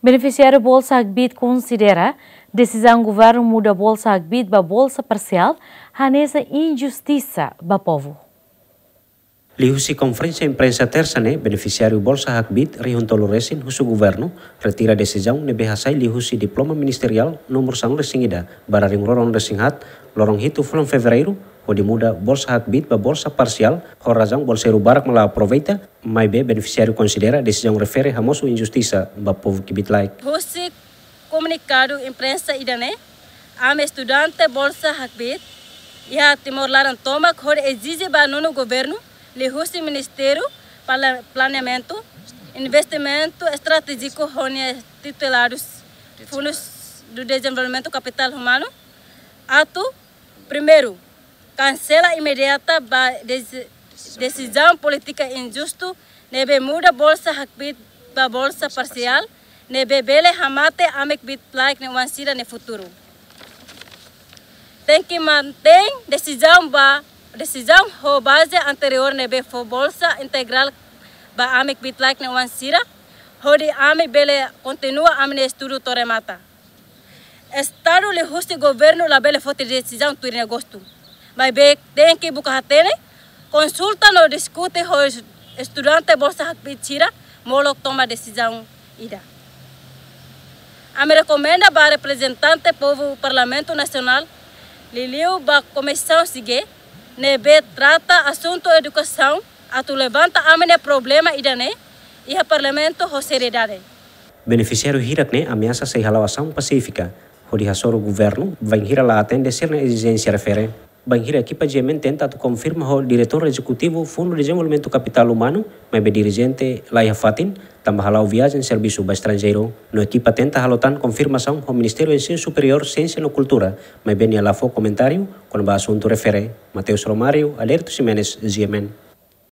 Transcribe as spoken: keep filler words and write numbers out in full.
Benefisiáriu Bolsa Hakbiit konsidera desizaun governu muda Bolsa Hakbiit ba bolsa parsiál hanesan injustisa ba povu. Liuhusi konferénsia imprensa Tersa ne'e, benefisiáriu Bolsa Hakbiit rihun tolu resin husu governu retira desizaun ne'ebé hasai liuhusi diploma ministeriál númeru sanulu resin ida barra rihun rua ruanulu resin haat, loron hitu fulan Fevereiru, hodi muda Bolsa Hakbiit ba bolsa parsiál, ho razaun bolseiru barak mak la aproveita, maibé benefisiáriu konsidera desizaun refere hamosu injustisa ba povu kbiit-laek. Husi komunikadu imprensa ida-ne'e, ami estudante Bolsa Hakbiit iha Timor laran tomak hodi ezije ba nonu governu, liuhusi Ministériu Pla-, Planeamentu, Investimentu Estratéjiku ho nia tituladus Fundos do Desenvolvimento Capital Humano, atu, primeiru, kansela imediata ba desi-, desizaun polítika injustu ne'ebé muda Bolsa Hakbiit ba bolsa parsiál, ne'ebé bele hamate ami kbiit-laek nia oan sira nia futuru. Tenke mantein desizaun ba, desizaun ho baze anteriór ne'ebé fó bolsa integrál ba ami kbiit-laek nia oan sira, hodi ami bele kontinua ami-nia estudu to'o remata. Estadu liuhusi governu labele foti desizaun tuir nia gostu. Maibé tenke buka hatene, konsulta no diskute ho es-, estudante Bolsa Hakbiit sira, molok toma desizaun ida. Ami rekomenda ba reprezentante povu Parlamentu Nasionál, liuliu ba Komisaun SIGE, ne'ebé trata asuntu edukasaun, atu levanta ami-nia problema ida-ne'e iha Parlamentu ho seriedade. Benefisiáriu hirak-ne'e ameasa sei hala'o asaun pasífika, hodi hasoru governu bainhira la atende sira-nia ezijénsia refere. Bainhira ekipa G M N tenta atu konfirma ho Diretór Ezekutivu Fundu Dezenvolvimentu Kapitál Umanu, maibé dirijente la iha fatin, tanba hala'o viajen servisu ba estranjeiru. No ekipa tenta halo tan konfirmasaun ho Ministériu Ensinu Superiór, Siénsia no Kultura, maibé nia la fó komentáriu kona-ba asuntu refere. Mateus Romário, Aderito Ximenes, G M N.